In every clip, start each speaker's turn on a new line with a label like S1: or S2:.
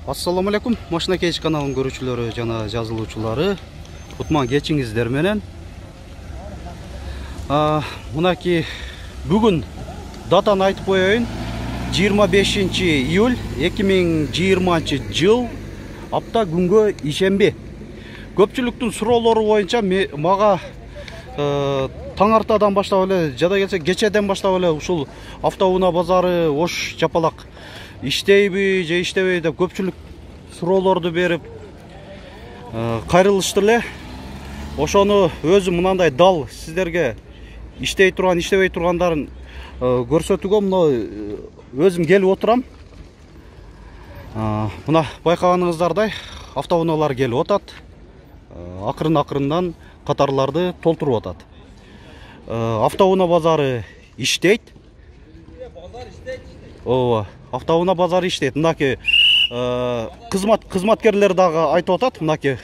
S1: Assalamu alaikum. Машина Кейч каналынын көрүүчүлөрү жана жазылуучулары. Кутман кечиңиздер менен. Мынаки бүгүн датаны айтып коеюн. 25 июль 2020 жыл апта күнгө ишемби. Көпчүлүктүн суроолору боюнча мага таңартадан баштап эле, жада келсе кечеден баштап эле ушул автоунаа базары ош жапалак иштейби же иштебейби деп көпчүлүк суроолорду берип кайрылышты эле. Ошону өзүм мынандай дал сиздерге иштей турган, иштебей тургандарын көрсөтүүгө мына өзүм келип отурам. Мына байкаганыңыздардай автоунаалар келип атат. Акырын-акырындан катарларды толтуруп атат. Автоунаа базары иштейт. Ооба, автоунаа базары иштейт. Мынаки кызматкерлер дагы айтып атат, мынаки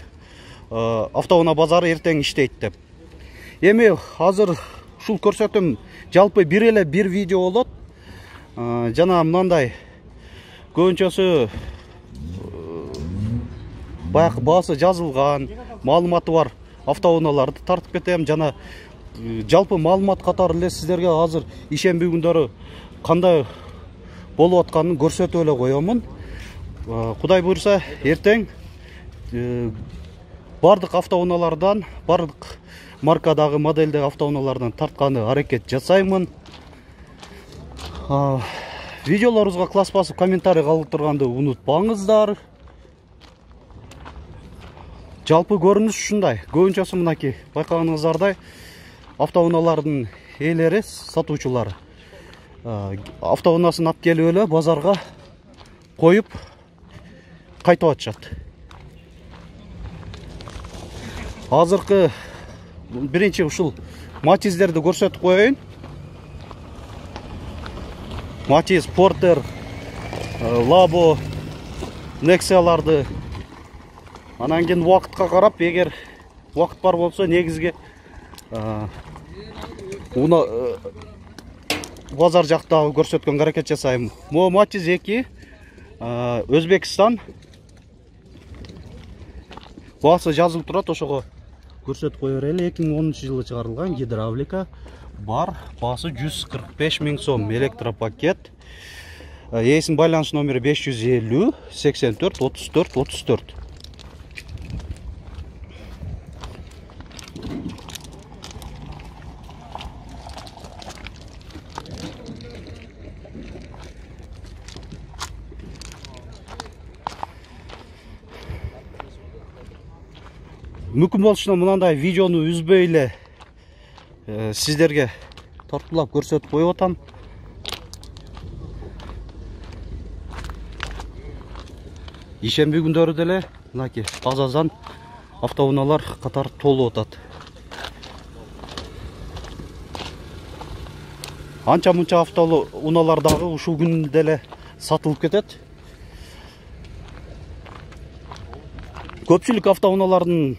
S1: автоунаа базары эртең иштейт деп. Эми азыр ушул көрсөтөм, жалпы бир видео болот. Жана мындай көбүнчөсү баягы баасы жазылган, маалыматы бар автоунааларды тартып кетем. Жана жалпы маалымат катары эле сиздерге азыр ишемби күндөрү кандай болуп атканын көрсөтүп эле коёмун. Кудай буйрса, эртең бардык автоунаалардан, бардык маркадагы, моделдеги автоунаалардан тартканы аракет жасаймын. Видеолорубузга класс басып, комментарий калтырганды унутпаңыздар. Жалпы көрүнүш ушундай. Көбүнчөсү мынаки байкаганыңыздардай автоунаалардын ээлери, сатуучулары автоунаасын алып келип эле базарга коюп кайтып атышат. Азыркы биринчи ушул Матиздерди көрсөтүп коеюн. Матиз, Портер, Лабо, Нексияларды. Анан кийин убакытка карап, эгер убакыт бар болсо, негизги базар жактагы көрсөткөнгө аракет жасайм. Могу Матиз 2, Өзбекстан. Баасы жазылып турат, ошого көрсөтүп кое берели. 2010 жылы чыгарылган, гидравлика бар. Баасы 145 000 сом, электропакет. Ээсинин байланыш номери 550 84 34 34. Мүмкүн болушунча мынандай видеону үзбөй эле сиздерге тартуулап көрсөтүп коюп атам. Ишемби күндөрү деле мынаки азазан автоунаалар катар толуп атат. Анча-мунча автоунаалар дагы ушул күндө деле сатылып кетет. Көпчүлүк автоунаалардын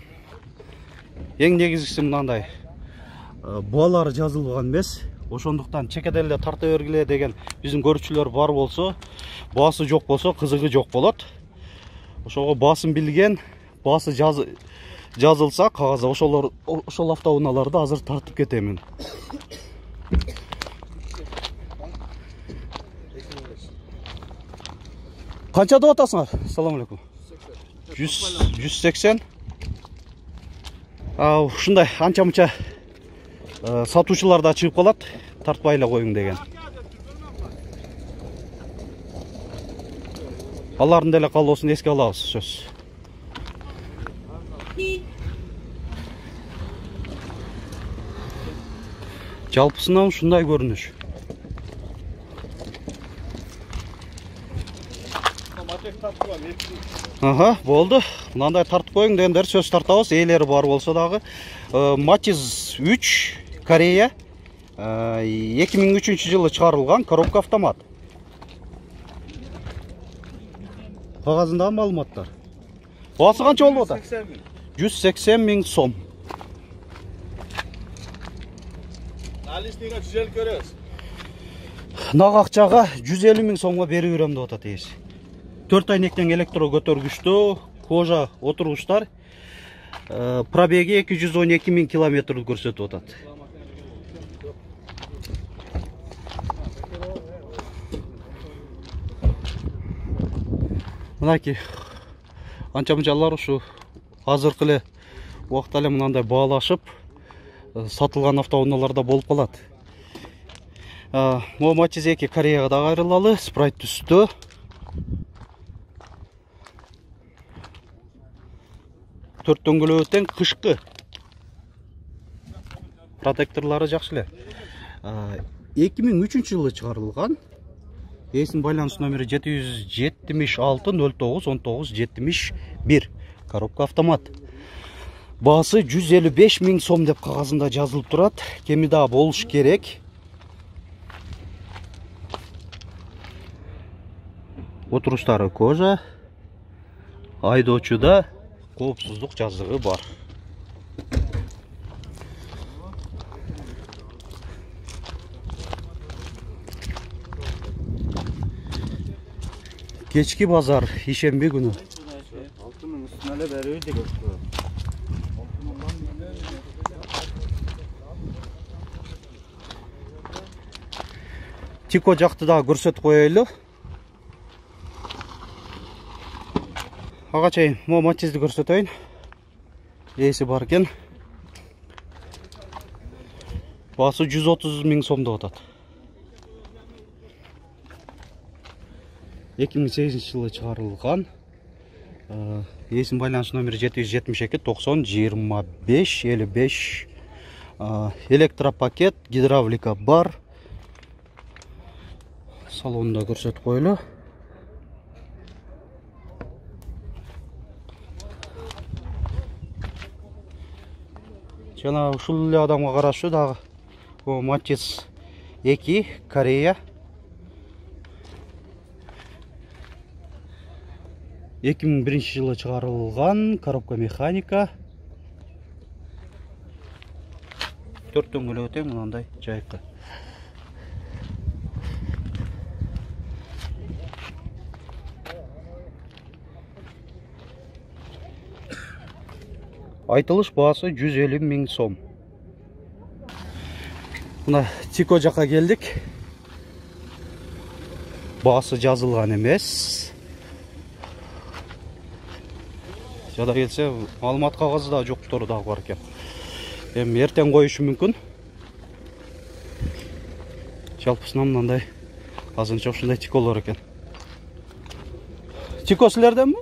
S1: эң негизгиси мындай баалары жазылган эмес. Ошондуктан чекеден эле тарта бергиле деген биздин көрүүчүлөр бар болсо, баасы жок болсо, кызыгы жок болот. Ошого баасын билген, баасы жазылса кагазда, ошол автоунааларды азыр тартып кетемин. Канча деп атасыңар? Ассаламу алейкум. 180. Ушундай анча-мунча сатуучулар да чыгып калат, тартпай эле коюң деген. Алардын деле калоосун эске алабыз сөз. Жалпысынан ушундай көрүнүш. Болду. Мынандай тартып коюң дегендер сөз тартабыз. Ээлери бар болсо дагы. Матиз 3, Корея. 2003 жылы чыгарылган, коробка автомат. Кагазындагы маалыматтар. Баасы канча болуп атат? 180 000 сом. Наличныйга 150 көрөбүз. Нак акчага 150 000 сомго берип берем деп атат ээси. 4 айнектен электро көтөргүчтүү, кожа отургучтар. Пробеги 212 000 километр көрсөтүп атат. Мынакей анча-мынчалар ушу азыркы эле убакта эле мындай баалашып сатылган автоунааларда болуп калат. Могу Matiz 2 Кореяга да кайрылалы, спрайт түстө. Төрт дөңгөлөгү тең, кышкы. Протекторлары жакшы эле. 2003-жылы чыгарылган. Эсин байланыш номери 776 09 19 71. Коробка автомат. Баасы 155 000 сом деп кагазында жазылып турат. Кеми да болуш керек. Отуруштары кожа. Айдоочуда коопсуздук жазыгы бар. Кечки базар ишемби күнү.
S2: Алтынын үстүнө эле берүү деген.
S1: Тико жакты да көрсөтүп коелу. Ага чейин могу Matiz'ди көрсөтөйүн. Эси бар экен. Баасы 130 000 сом деп атат. 2008-жылы чыгарылган. Эсин байланыш номери 772 90 25 55. Электропакет, гидравлика бар. Салонда көрсөтүп коелу. Жана ушул эле адамга караштуу дагы Matiz 2 Корея. 2001-жылы чыгарылган, коробка механика. Төрт дөңгөлөгү тең, мындай жайкы. Айтылыш баасы 150 000 сом. Мына Тико жака келдик. Баасы жазылган эмес. Жада келсе, маалымат кагазы да жоктор дагы бар экен. Эми эртең коюшу мүмкүн. Жалпысынан мындай азырынча ушундай Тиколор экен. Тико силерденби?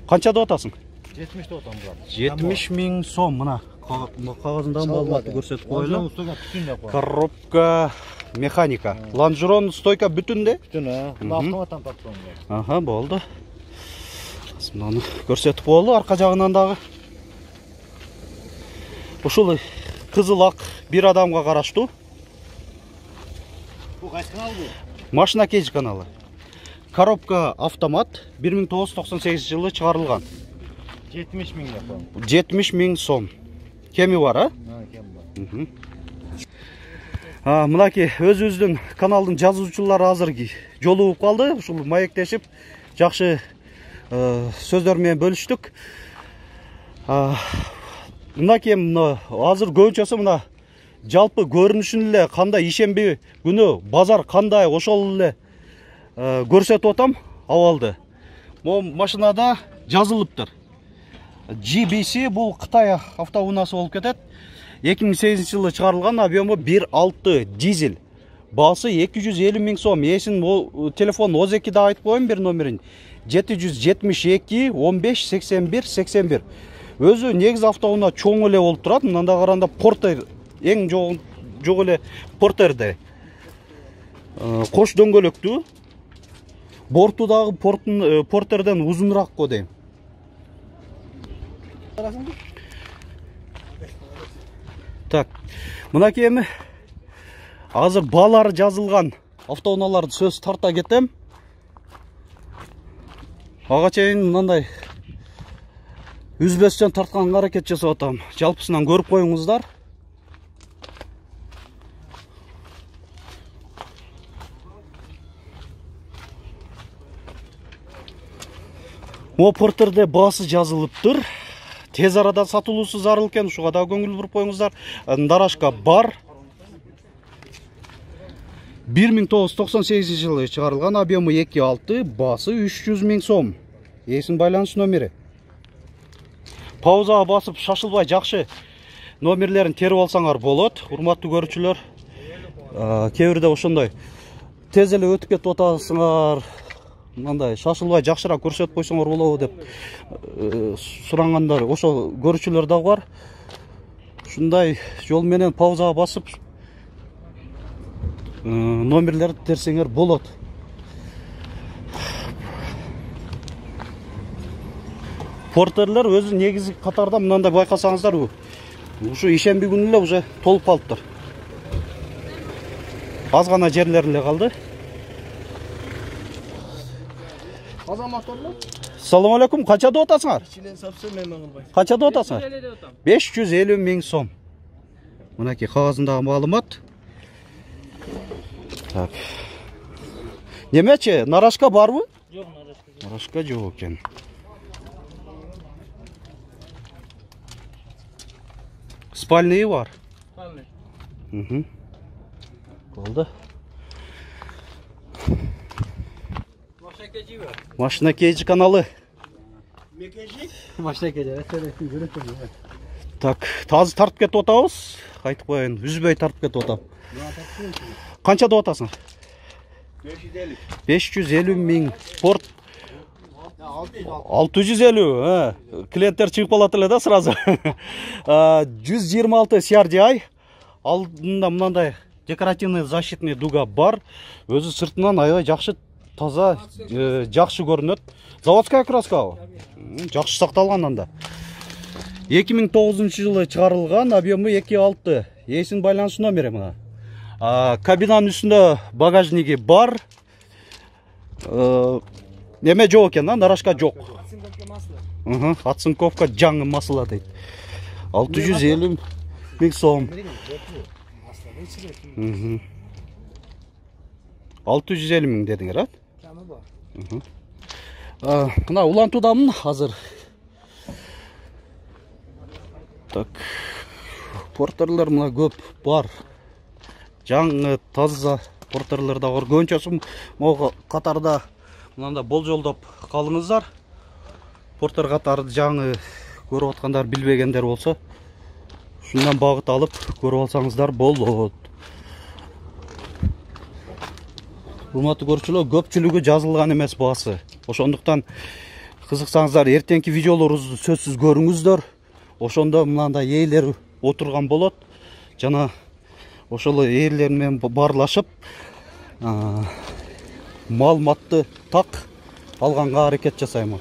S1: Канча деп атасың?
S2: 70 деп атам брат.
S1: 70 000 сом мына кагазында маалыматты көрсөтүп коелу. Коробка механика. Лонжерон стойка бүтүндө?
S2: Бүтүн, автоматтан тартып.
S1: Ага, болду. Мынаны көрсөтүп коелу, арка жагынан дагы. Ушул кызыл ак бир адамга караштуу.
S2: Бул кайсы канал бу?
S1: Машина Кейж каналы. Коробка автомат 1998 жылы чыгарылган.
S2: 70 000 yapalım.
S1: 70 000 сом. Кеми бар, а?
S2: Кем бар.
S1: Мынакей өзүбүздүн каналдын жазуучулары азыр жолугуп калды. Ушул маектешип жакшы сөздөр менен бөлүштүк. Мынакей азыр көбүнчөсү мына жалпы көрүнүшүн эле кандай ишемби күнү базар кандай ошол эле көрсөтүп атам абалды. Могу машинада жазылыптыр. GBC бул Кытай автоунаасы болуп кетет. 2008 жылы чыгарылган, объему 1.6 дизель. Баасы 250 000 сом. Эсин телефон ОЗ2да айтып коеюн бир номерин. 772 15 81 81. Өзү негизи автоунаа чоң эле болуп турат. Мында караганда Портер эң жок эле Портерде. Кош дөңгөлөктүү. Борту дагы Портерден узунураак го дейм. Так, мынакей эми азыр баалары жазылган автоунааларды сөз тарта кетем. Ага чейин мындай үзбөстөн тартканга аракет жасап атам. Жалпысынан көрүп коюңуздар. О портерде баасы жазылыптыр. Тез арада сатылуусу зарыл экен, ушуга да көңүл буруп коюңуздар. Нарашка бар. 1998 жылы чыгарылган, объемы 2.6, баасы 300 000 сом. Эсин байланыш номери. Паузага басып шашылбай жакшы номерлерин терип алсаңар болот. Урматтуу көрүүчүлөр, кээ бирде ошондой тез эле өтүп кетип атасыңар, мындай шашылбай жакшыраак көрсөтүп койсоңор болобу деп сурангандар, ошо көрүүчүлөр дагы бар. Ушундай жол менен паузага басып номерлерди терсеңер болот. Портерлер өзү негизги катарда мынандай байкасаңыздар, ушу ишемби күнү эле уже толуп калыптыр. Аз гана жерлери эле калды.
S2: Азаматтар.
S1: Салам алейкум, канча деп атасыңар?
S2: Ичинен совсем эме кылбайт.
S1: Канча деп атасыңар? 550 000 сом. Мынакей кагазындагы маалымат. Так. Немечи, нарашка барбы?
S2: Жок, нарашка жок.
S1: Нарашка жок экен. Спальный бар.
S2: Спальный.
S1: Болду.
S2: Машина бар.
S1: Машина кейжи каналы.
S2: Мекежи? Машина кейжи.
S1: Так, тазы тартып кетип атабыз. Айтып коеюн, үзбөй тартып кетип атам. Канча деп атасың?
S2: 550.
S1: 550 000. Порт 650. Клиенттер чыгып калат эле да сразу. 126 CRDI. Алдында мынандай декоративный защитный дуга бар. Өзү сыртынан аябай жакшы, таза, жакшы көрүнөт. Заводская краска. Жакшы сакталган анда. 2009 жылы чыгарылган, объемы 2.6. Эсин байланыш номери мына. Кабинанын үстүндө багажниги бар. Неме жок экен, нарашка жок. Оцинковка жаңы масла дейт. 650 000 сом. 650 000 дедиңер, а?
S2: Камы бар.
S1: Мына улантуудамын азыр. Так. Портерлер мына көп бар. Жаңы таза портерлер да бар. Көбүнчөсү могу катарда мындай болжолдоп калыңыздар. Портер катарды жаңы көрүп аткандар, билбегендер болсо, шундан багыт алып көрүп алсаңыздар болот. Урматтуу көрүүчүлөр, көпчүлүгү жазылган эмес баасы. Ошондуктан кызыксаңыздар, эртеңки видеолорубузду сөзсүз көрүңүздөр. Ошондо мындай ээлер отурган болот. Жана ошол ээлер менен баарлашып, маалыматты так алганга аракет жасайм.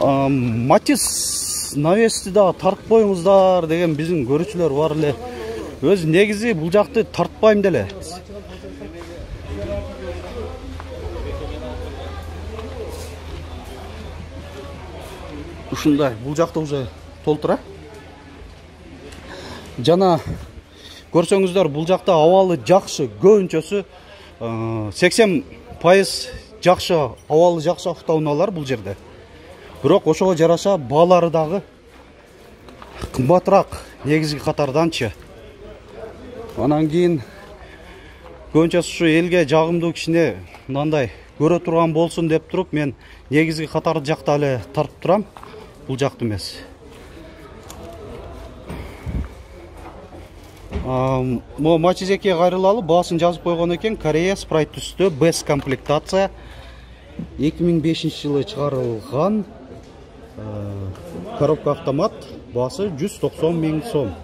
S1: Матис навести да тартып коюңуздар деген биздин көрүүчүлөр бар эле. Өз негизи бул жакты тартпайм деле. Ушундай, бул жакта уже толтура. Жана көрсөңүздөр, бул жакта абалы жакшы, көбүнчөсү 80% жакшы, абалы жакшы автоунаалар бул жерде. Бирок ошого жараша баалары дагы кымбатыраак негизги катарданчы. Анан кийин көбүнчөсү ушу элге жагымдуу кичине мындай көрө турган болсун деп туруп, мен негизги катарды жакта эле тартып турам, бул жакты эмес. Мо Мачизекке кайрылалы баасын жазып койгон экен. Корея спрайт түстө, без комплектация. 2005 жылы чыгарылган, коробка автомат, баасы 190 000 сом.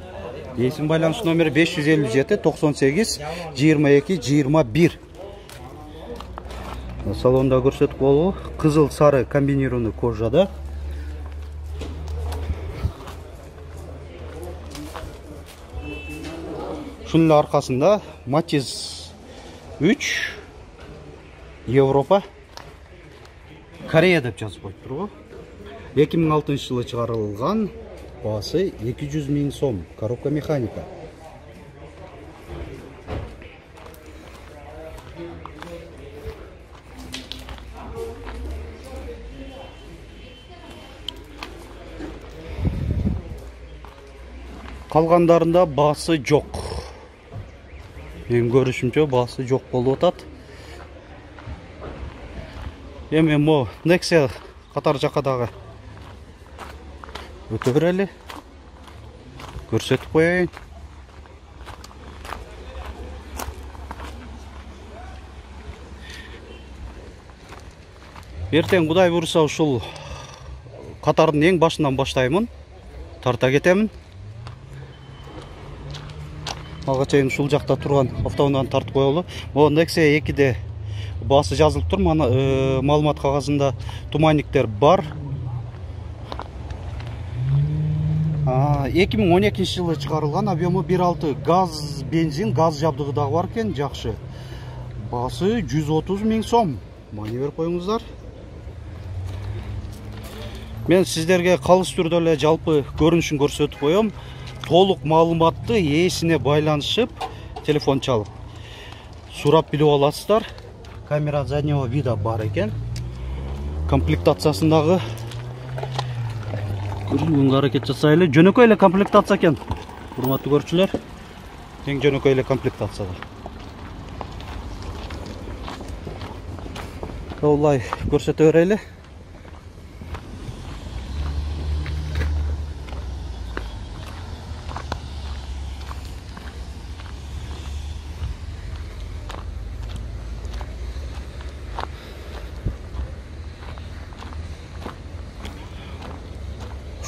S1: Эсин байланыш номери 557 98 22 21. Салонда көрсөтүп болобу, кызыл сары комбинированный кожада. Шунун аркасында Матиз 3 Европа Корея деп жазып коюптур. 2006 жылы чыгарылган, баасы 200 000 сом, коробка механика. Калгандарында баасы жок. Мен көрүшүмчө баасы жок болуп атат. Эми мо Nexia катар жака дагы өтө берели. Көрсөтүп коеюн. Эртең Кудай буйруса ушул катардын эң башынан баштаймын. Тарта кетемин. Ага чейин ушул жакта турган автоунааны тартып коелу. Могу Nexia 2де баасы жазылып тур. Маалымат кагазында туманниктер бар. 2012 жылы чыгарылган, объему 1.6 газ, бензин, газ жабдыгы дагы бар экен, жакшы. Баасы 130 000 сом. Мани берип коюңуздар. Мен сиздерге калыс түрдө эле жалпы көрүнүшүн көрсөтүп коем. Толук маалыматты ээсине байланышып, телефон чалып сурап билип аласыздар. Камера заднего вида бар экен. Комплектациясындагы көрүүгө аракет жасайлы. Жөнөкөй эле комплектация экен. Урматтуу көрүүчүлөр, эң жөнөкөй эле комплектация. Олай көрсөтө берели.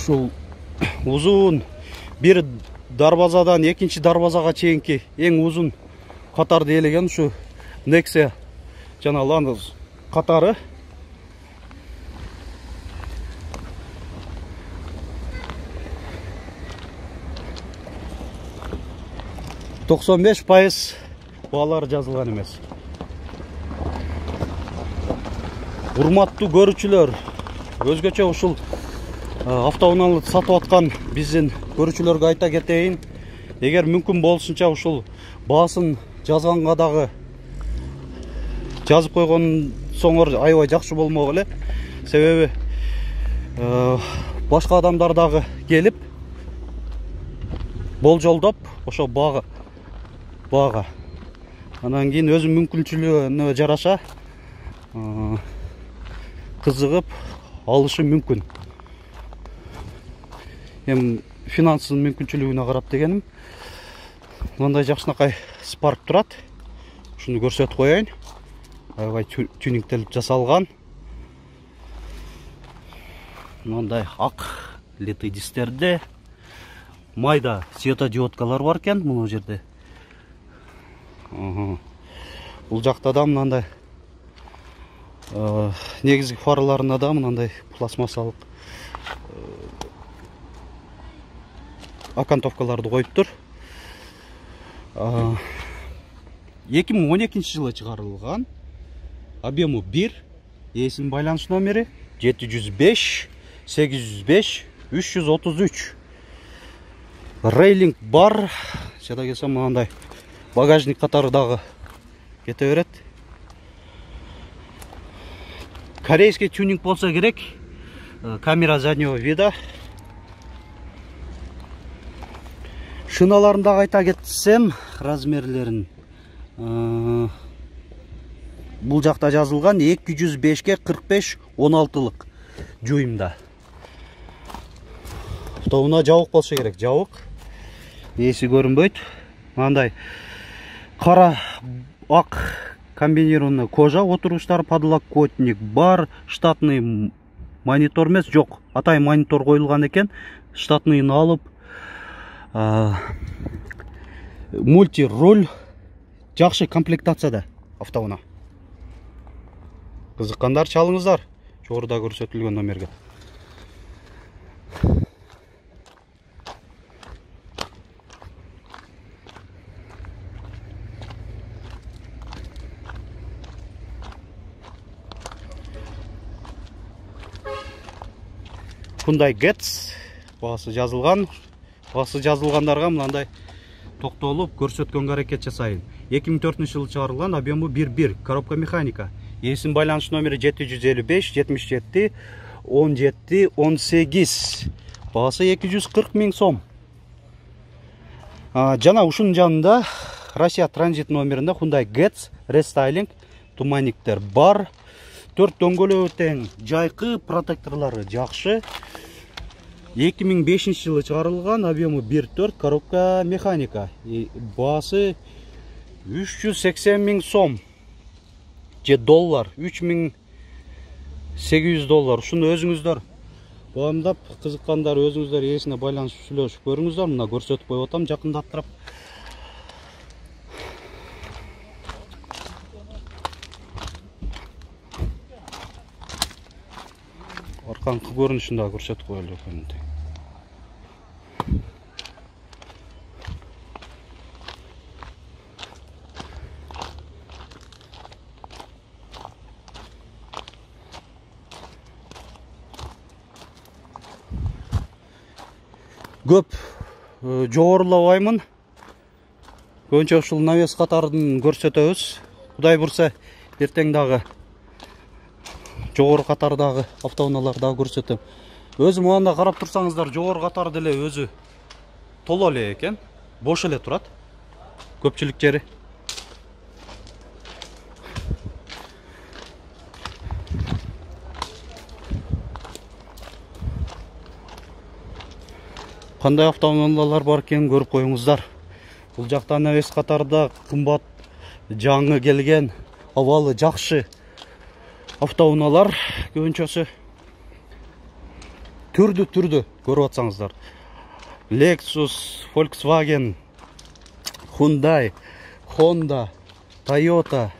S1: Ушул узун бир дарбазадан экинчи дарбазага чейинки эң узун катарды ээлеген ушу Nexia жана Land катары. %95 баалары жазылган эмес. Урматтуу көрүүчүлөр, өзгөчө ушул автоунааны сатып аткан биздин көрүүчүлөргө айта кетейин. Эгер мүмкүн болушунча ушул баасын жазганга дагы жазып койгонсоңор аябай жакшы болмок эле. Себеби башка адамдар дагы келип болжолдоп ошо баага анан кийин өзүнүн мүмкүнчүлүгүнө жараша кызыгып алышы мүмкүн. Эми финанстын мүмкүнчүлүгүнө карап дегеним. Мындай жакшынакай Spark турат. Ушуну көрсөтүп коеюн. Аябай тюнингтелип жасалган. Мындай ак литый дистерде майда светодиодкалар бар экен мына жерде. Бул жакта да мындай негизги фараларына да мындай пластмассалык окантовкаларды коюптур. 2012 жылы чыгарылган, объему 1, ээсинин байланыш номери 705 805 333. Рейлинг бар. Жада келсем мындай багажник катары дагы кете берет. Корейский тюнинг болса керек. Камера заднего вида. Шыналарын дагы айта кетсем, размерлерин бул жакта жазылган 205-ке 45 16-лык жуйумда. Автоуна жабык болсо керек, жабык. Ээси көрүнбөйт. Мындай кара ак комбинированный кожа, отургучтар, подлокотник бар, штатный монитор эмес, жок, атай монитор коюлган экен. Штатныйын алып, мульти-руль, жакшы комплектацияда автоуна. Кызыккандар чалыңыздар, жогоруда көрсөтүлгөн номерге. Hyundai Getz баасы жазылган. Баасы жазылгандарга мындай токтолуп көрсөткөнгө аракет жасайын. 2004 жылы чыгарылган, объему 1.1, коробка механика. Ээсинин байланыш номери 755 77 17 18. Баасы 240 000 сом. Жана ушунун жанында Россия транзит номеринде Hyundai Getz рестайлинг туманниктер бар. 4 дөңгөлөбү тең, жайкы, протекторлору жакшы. 2005 жылы чыгарылган, объему 1.4, коробка механика. Баасы 380 000 сом же доллар, 3800 доллар. Ушуну өзүңүздөр баамдап, кызыккандар өзүңүздөр ээсине байланышып сүйлөшүп көрүңүздөр. Мына көрсөтүп коюп атам жакындаттырып. Арканкы көрүнүшүн да көрсөтүп коелу экен. Көп жогорулабаймын. Көбүнчө ушул навес катарын көрсөтөбүз. Кудай бурса, эртең дагы жогору катардагы автоунааларды дагы көрсөтөм. Өзү мында карап турсаңыздар, жогору катар деле өзү толо эле экен. Бош эле турат. Көпчүлүк жери. Кандай автоунаалар бар экен көрүп коюңуздар. Бул жакта навес катарда кымбат, жаңы келген, абалы жакшы автоунаалар көбүнчөсү түрдүү көрүп атсаңыздар. Lexus, Volkswagen, Hyundai, Honda, Toyota,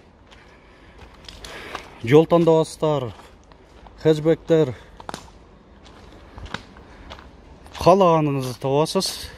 S1: жол тандабастар, хэтчбектер, каалаганыңызды табасыз.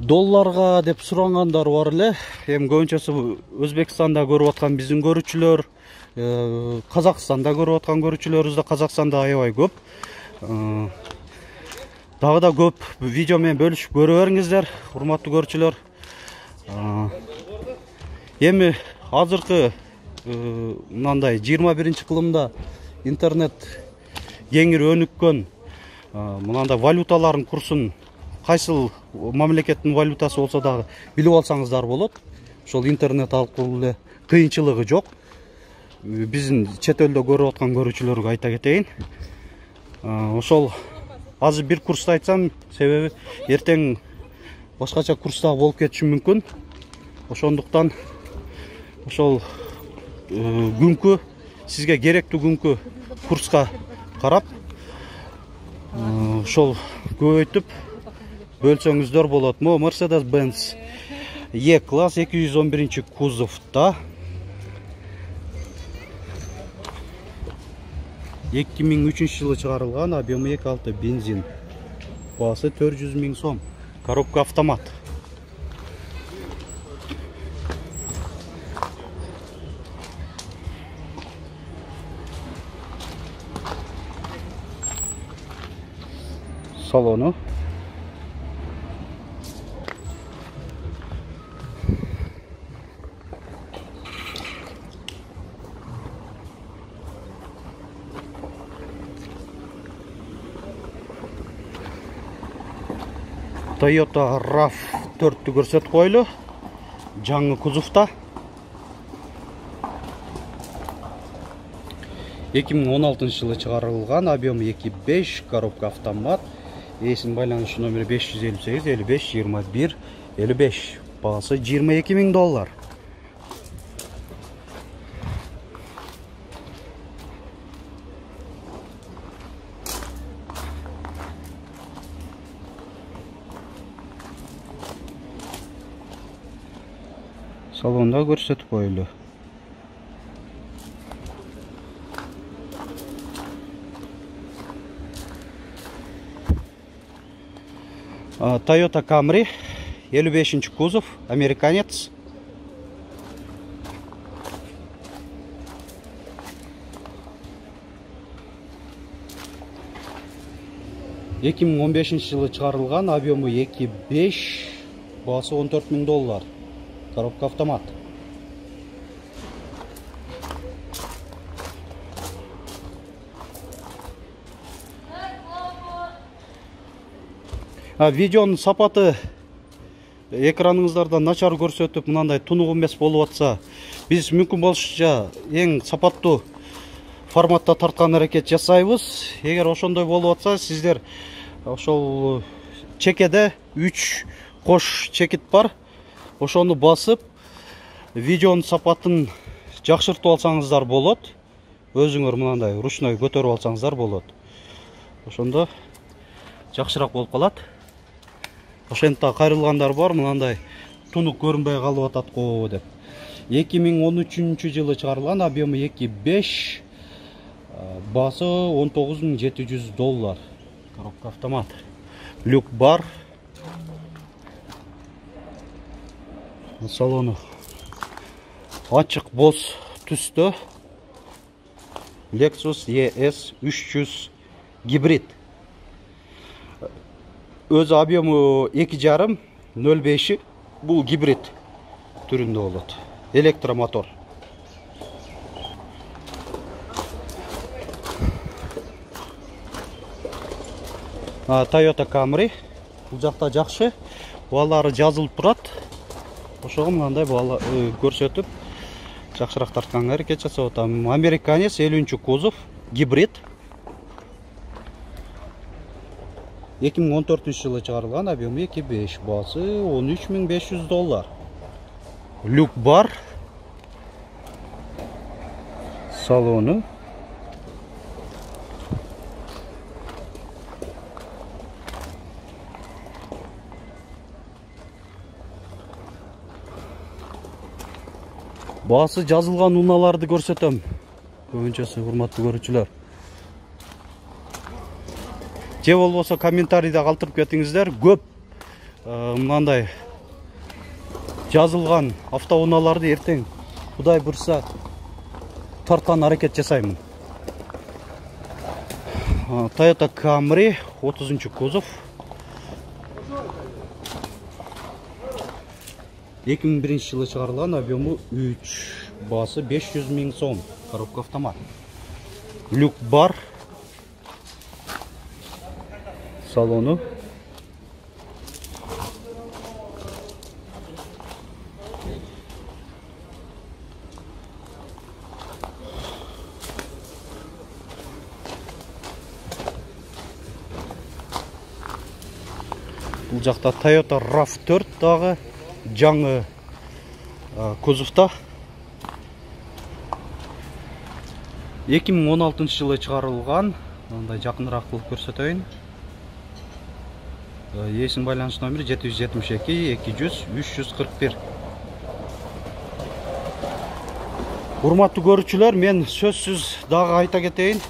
S1: Долларга деп сурангандар бар эле. Эми көбүнчөсү Өзбекстанда көрүп аткан биздин көрүүчүлөр, Казакстанда көрүп аткан көрүүчүлөрүбүз да Казакстанда аябай көп. Дагы да көп видео менен бөлүшүп көрө бериңиздер, урматтуу көрүүчүлөр. Эми азыркы мындай 21-кылымда интернет кеңири өнүккөн, мынандай валюталардын курсун кайсыл мамлекеттин валютасы болсо дагы билип алсаңыздар болот. Ошол интернет аркылуу эле кыйынчылыгы жок. Биздин чет элде көрүп аткан көрүүчүлөргө айта кетейин. Ошол азыр бир курсту айтсам, себеби эртең башкача курста болуп кетиши мүмкүн. Ошондуктан ошол күnkү сизге керектүү күnkү курска карап, ошол көбөйтүп бөлсөңүздөр болот. Мо Mercedes-Benz E-класс 211 кузовда 2003 жылы чыгарылган, объему 2.6 бензин. Баасы 400 000 сом. Коробка автомат. Салону. Toyota RAV4 көрсөтүп койлу. Жаңы кузовта. 2016 жылы чыгарылган, объему 2.5, коробка автомат. Эсин байланыш номери 558 55 21 55. Баасы 22 000 доллар. Салонда көрсөтүп койлу. Toyota Camry 55 кузов, американец. 2015 жылы чыгарылган, объему 2.5, баасы $14.000. Коробка автомат. Видеонун сапаты экраныңыздарда начар көрсөтүп, мынандай тунук эмес болуп атса, биз мүмкүн болушунча эң сапаттуу форматта тарткан аракет жасайбыз. Эгер ошондой болуп атса, сиздер ошол чекеде 3 кош чекит бар. Ошону басып, видеонун сапатын жакшыртып алсаңыздар болот. Өзүңөр мынандай ручной көтөрүп алсаңыздар болот. Ошондо жакшыраак болуп калат. Ошентип кайрылгандар бар, мынандай тунук көрүнбөй калып атат го деп. 2013 жылы чыгарылган, объему 2.5, баасы $19.700. Коробка автомат. Люк бар. Салону ачык боз түстө. Lexus ES 300 гибрид. Өзү объему 2.5, 0.5, бул гибрид түрүндө болот. Электромотор. Toyota Camry. Бул жакта жакшы. Баалары жазылып турат. Ошого мындай баала көрсөтүп, жакшыраак тартканга аракет жасап атам. Американец 50 кузов, гибрид. 2014 жылы чыгарылган, объему 2.5, баасы $13.500. Люк бар. Салону. Баасы жазылган унааларды көрсөтөм. Көбүнчөсү урматтуу көрүүчүлөр. Же болбосо комментарийде калтырып кетиңиздер. Көп мындай жазылган автоунааларды эртең Кудай бурса тарткан аракет жасаймын. Toyota Camry 30 кузов. 2001 жылы чыгарылган, объему 3, баасы $500.000. Коробка автомат. Люк бар. Салону. Бул жакта Toyota RAV4 дагы жаңы кузовта. 2016 жылы чыгарылган. Мындай жакыныраак кылып көрсөтөйүн. Есин байланыш номери 772 200 341. Урматтуу көрүүчүлөр, мен сөзсүз дагы айта кетейин.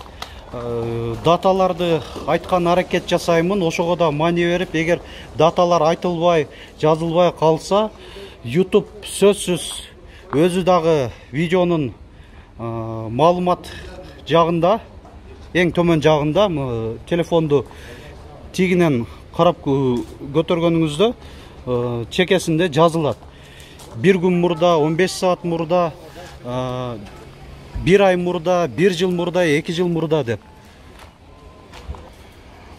S1: Даталарды айткан аракет жасаймын. Ошого да маани берип, эгер даталар айтылбай, жазылбай калса, YouTube сөзсүз өзү дагы видеонун маалымат жагында, эң төмөн жагында телефонду тигинен карап көтөргөнүңүздө чекесинде жазылат. Bir күн мурда, 15 саат мурда, 1 ай мурда, 1 жыл мурда, 2 жыл мурда деп.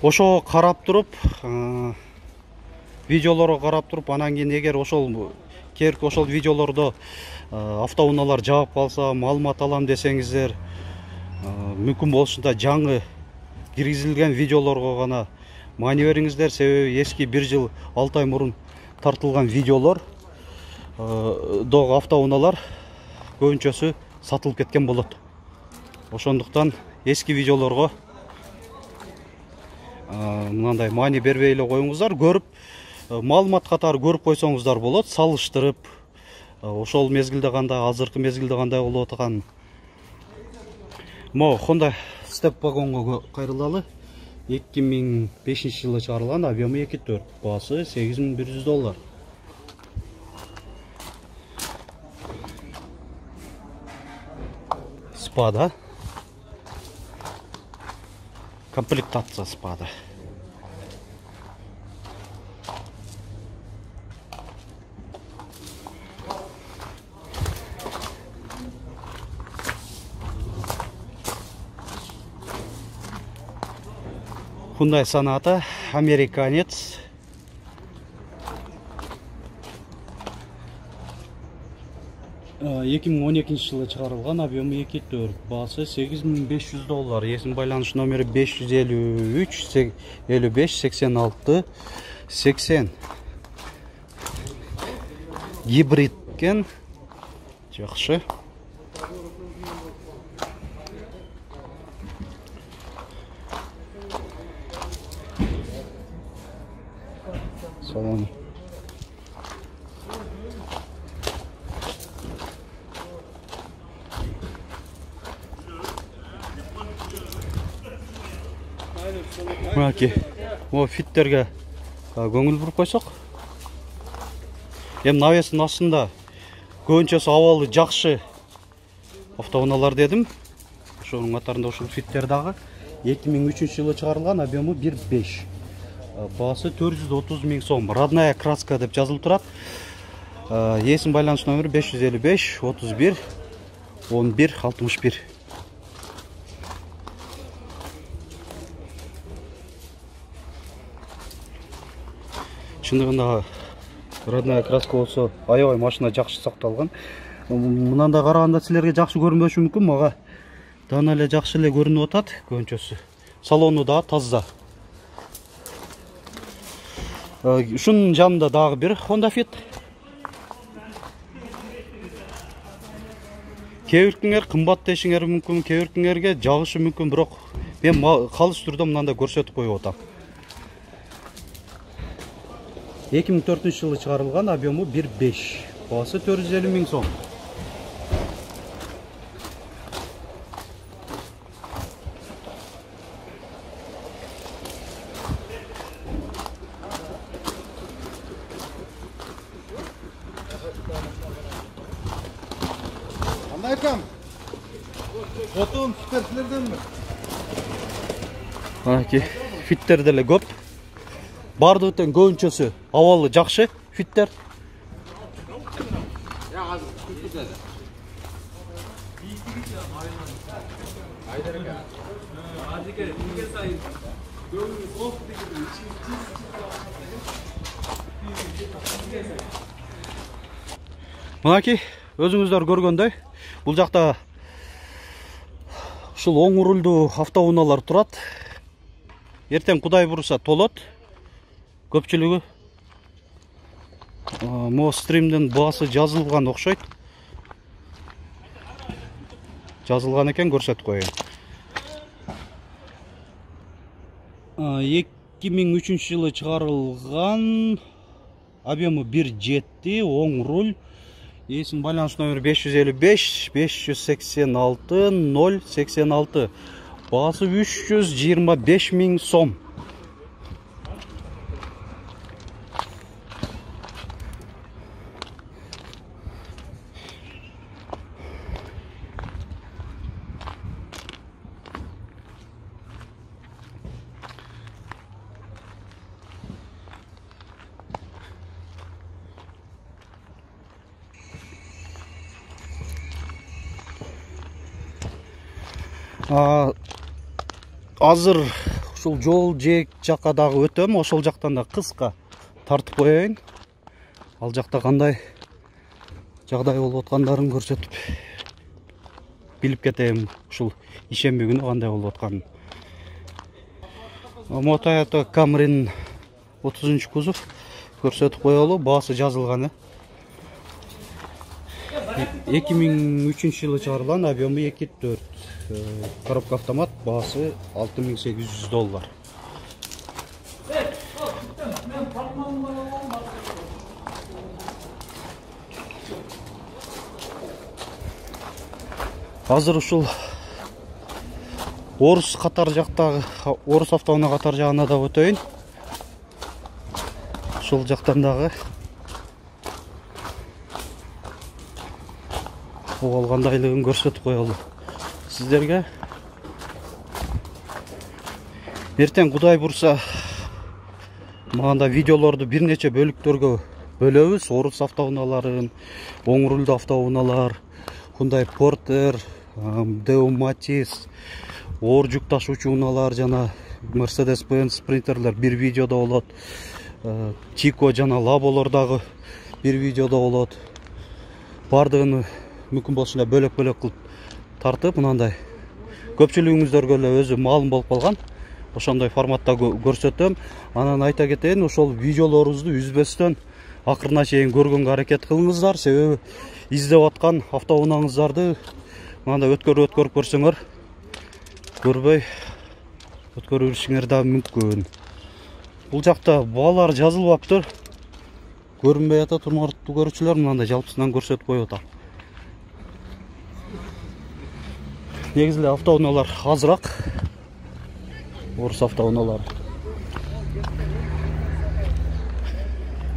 S1: Ошого карап туруп, видеолорго карап туруп, анан кийин эгер ошол керки ошол видеолордо автоунаалар жаап калса, маалымат алам десеңиздер, мүмкүн болушунча жаңы киргизилген видеолорго гана маани бериңиздер, себеби эски 1 жыл 6 ай мурун тартылган видеолор догу автоунаалар көбүнчөсү сатылып кеткен болот. Ошондуктан эски видеолорго мындай маани бербей эле коюңуздар, көрүп маалымат катары көрүп койсоңуздар болот, салыштырып, ошол мезгилде кандай, азыркы мезгилде кандай болуп аткан. Мо Honda Step вагонго кайрылалы. 2005 жылы чыгарылган, объему 2.4, баасы $8.100. Спада. Комплектация спада. Hyundai Sonata, американец. $2012 жылы чыгарылган, объемы 2.4, баасы $8500. Есим байланыш номери 553 55 86 80. Гибрид кен. Жакшы. Салон. Мынакей, фиттерге көңүл буруп койсок. Эми навестин астында көбүнчөсү абалы жакшы автоунаалар дедим. Ошонун катарында ушул фиттер дагы 2003 жылы чыгарылган, объему 1.5. Баасы 430 000 сом. Родная краска деп жазылып турат. Есим байланыш номери 555 31 11 61. Чындыгында родная краска болсо, аябай машина жакшы сакталган. Мынандай караганда силерге жакшы көрүнбөшү мүмкүн, мага дана эле жакшы эле көрүнүп атат көбүнчөсү. Салону да таза. Ушунун жанында дагы бир Honda Fit. Кээ биркиңер кымбат дешиңер мүмкүн, кээ биркиңерге жагышы мүмкүн, бирок мен калыс түрдө мындай көрсөтүп коюп атам. 2004 жылы чыгарылган, объему 1.5, баасы 450 000 сом.
S2: Кандайкам? Отун фиттердерденби?
S1: Мынакей, фиттер деле көп. Бардыгытын көбүнчөсү абалы жакшы фиттер. Мынакей, өзүңүздөр көргөндөй, бул жакта ушул оң рулдуу автоунаалар турат. Эртең Кудай буйруса толот. Көпчүлүгү мо стримдин баасы жазылган окшойт. Жазылган экен, көрсөтүп коеюн. 2003 жылы чыгарылган, объему 1.7, оң руль. Есим байланыш номери 555 586 086. Баасы 325 000 сом. Азыр ушул жол жээк жакка дагы өтөм, ошол жактан да кыска тартып коеюн. Ал жакта кандай жагдай болуп аткандарын көрсөтүп билип кетем, ушул ишемби күнү кандай болуп атканын. Toyota Camry'nin 30 кузов көрсөтүп коелу, баасы жазылган. 2003 жылы чыгарылган, объему 2.4. Коробка автомат, баасы $6800. Азыр ушул Орус катар жактагы, Орус автоунаа катар жагына да өтөйүн. Ушул жактан дагы кандайлыгын көрсөтүп коелу сиздерге. Эртең Кудай бурса мында видеолорду бир нече бөлүктөргө бөлөбүз. Орус автоунааларын, оң рулдуу автоунаалар, Hyundai Porter, Deo Matiz, оор жүк ташуучу унаалар жана Mercedes-Benz Sprinter'ler bir videoda болот. Chico жана Labолор дагы bir videoda болот. Бардыгын мүмкүн болсо эле бөлөк-бөлөк кылып тартып, мынандай көпчүлүгүңүздөргө эле өзү маалым болуп калган. Ошондой форматта көрсөтөм. Анан айта кетейин, ошол видеолорубузду үзбөстөн акырына чейин көргөнгө аракет кылыңыздар. Себеби издеп аткан автоунааңыздарды мындай өткөрүп көрсөңөр, көрбөй өткөрүп жүрүшүңөр да мүмкүн. Бул жакта баалар жазылбаптыр. Көрүнбөй атат, урматтуу көрүүчүлөр, мындай жалпысынан көрсөтүп коюп атам. Негизи эле автоунаалар азыраак. Орус автоунаалары.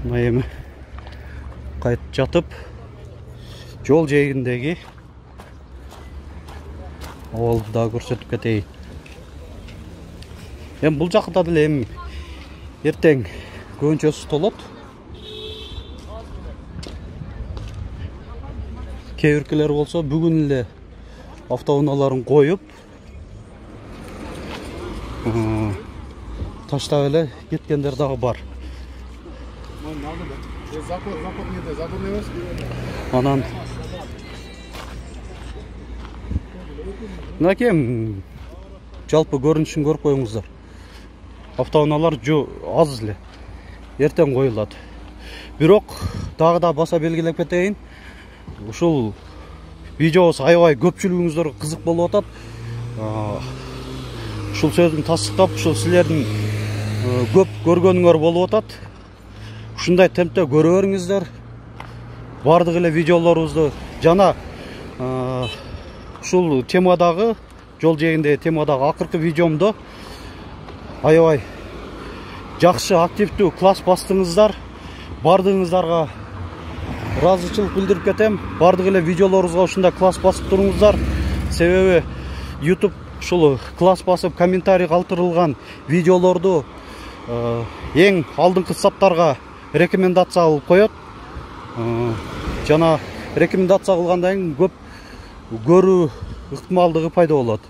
S1: Мына эми кайтып жатып, жол жээгиндеги абалды да көрсөтүп кетейин. Эми бул жакта деле эми эртең көбүнчөсү толот. Кээ биркилер болсо бүгүн эле автоунааларын коюп, таштап эле кеткендер дагы бар. Анан мынакей жалпы көрүнүшүн көрүп коюңуздар. Автоунаалар аз эле эртең коюлат. Бирок дагы да баса белгилеп кетейин. Ушул видеобуз аябай көпчүлүгүңүздөргө кызык болуп атат. Ушул сөздүн тастыктап, ушул силердин көп көргөнүңөр болуп атат. Ушундай темпте көрө бериңиздер. Бардык эле видеолорубузду жана ушул темадагы, жол жээгиндеги темадагы акыркы видеомду аябай жакшы, активдүү класс бастыңыздар. Бардыгыңыздарга ыраазычылык билдирип кетем. Бардык эле видеолорубузга ушундай класс басып туруңуздар. Себеби YouTube ушул класс басып комментарий калтырылган видеолорду эң алдыңкы саптарга рекомендация кылып коет. Жана рекомендация кылгандан кийин көп көрүү ыктымалдыгы пайда болот.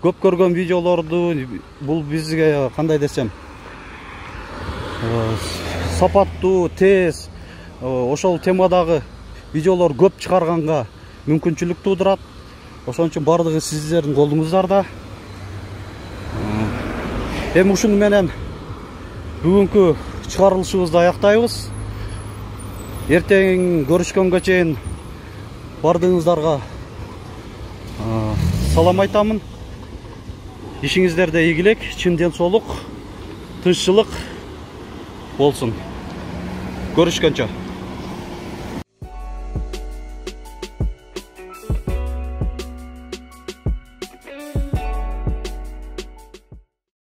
S1: Көп көргөн видеолорду бул бизге кандай десем, сапаттуу, тез, ошол темадагы видеолор көп чыгарганга мүмкүнчүлүк туудурат. Ошон үчүн бардыгы сиздердин колуңуздарда. Эми ушуну менен бүгүнкү чыгарылышыбызды аяктайбыз. Эртең көрүшкөнгө чейин бардыгыңыздарга салам айтамын. Ишиңиздерде ийгилик, чын ден соолук, тынччылык болсун. Görüşkөнчө.